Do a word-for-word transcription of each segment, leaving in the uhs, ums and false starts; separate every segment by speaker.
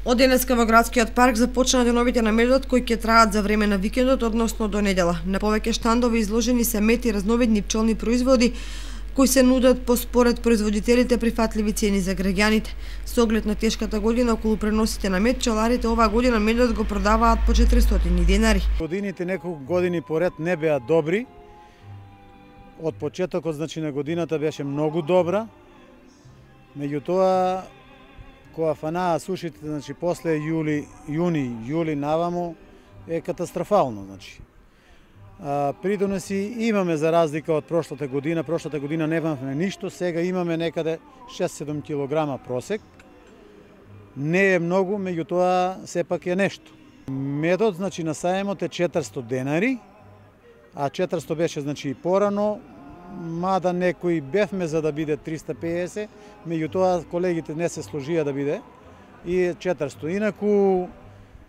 Speaker 1: Од денеска во градскиот парк започнаа деновите на медот кои ќе траат за време на викендот, односно до недела. На повеќе штандови изложени се мед и разновидни пчелни производи кои се нудат по според производителите прифатливи цени за граѓаните. Со оглед на тешката година околу преносите на мед, пчеларите оваа година медот го продаваат по четиристотини денари.
Speaker 2: Годините неколку години поред не беа добри. Од почетокот, значи, на годината беше многу добра. Меѓутоа, кога фанаа сушите, значи после јули, јуни, јули наваму е катастрофално, значи. А, придоноси имаме за разлика од прошлата година, прошлата година немавме ништо, сега имаме некаде шест-седум килограма просек. Не е многу, меѓутоа сепак е нешто. Медот, значи, на саемот е четиристотини денари, а четиристотини беше, значи, и порано, мада некои бевме за да биде триста и песет, меѓутоа колегите не се сложија да биде и четиристотини. Инаку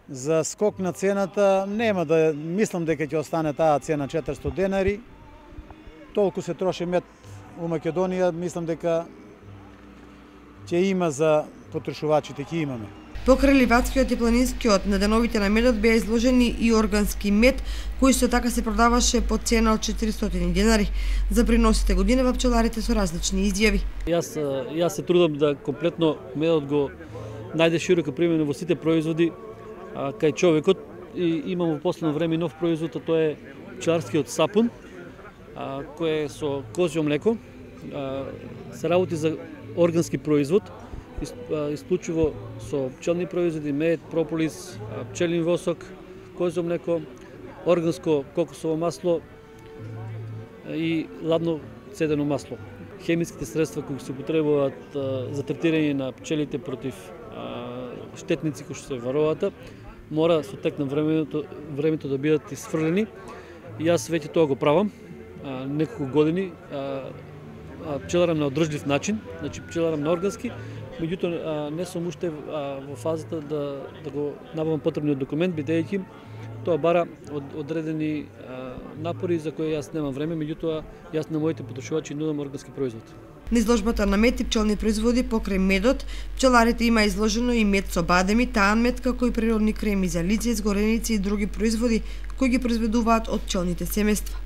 Speaker 2: за скок на цената нема да мислам дека ќе остане таа цена четиристотини денари. Толку се троши мед у Македонија, мислам дека ќе има за потрошувачите, ќе имаме.
Speaker 1: Покрај ливадскиот и планинскиот на деновите на медот беа изложени и органски мед, кој со така се продаваше по цена од четиристотини денари. За приносите годинава пчеларите со различни изјави.
Speaker 3: Јас јас се трудам да комплетно медот го најде широка примена во сите производи а, кај човекот, и имам во последно време нов производ, а тоа е пчеларскиот сапун, а, кој е со козјо млеко. А, се работи за органски производ, исклучиво со пчелни производи, мед, прополис, пчелин восок, козјо млеко, органско кокосово масло и ладно цедено масло. Хемиските средства кои се употребуваат за третирање на пчелите против штетници кои што се варовата, мора со тек на времето, времето да бидат исфрлени. И јас веќе тоа го правам неколку години. Пчеларам на одржлив начин, значи пчеларам на органски, меѓутоа не сум уште во фазата да, да го набавам потребниот документ, бидејќи тоа бара од, одредени а, напори за кои јас немам време, меѓутоа јас на моите потрошувачи нудам органски производ.
Speaker 1: На изложбата на мед и пчелни производи покрај медот, пчеларите има изложено и мед со бадеми, таан мед, како и природни креми за лице, изгореници и други производи кои ги произведуваат од пчелните семејства.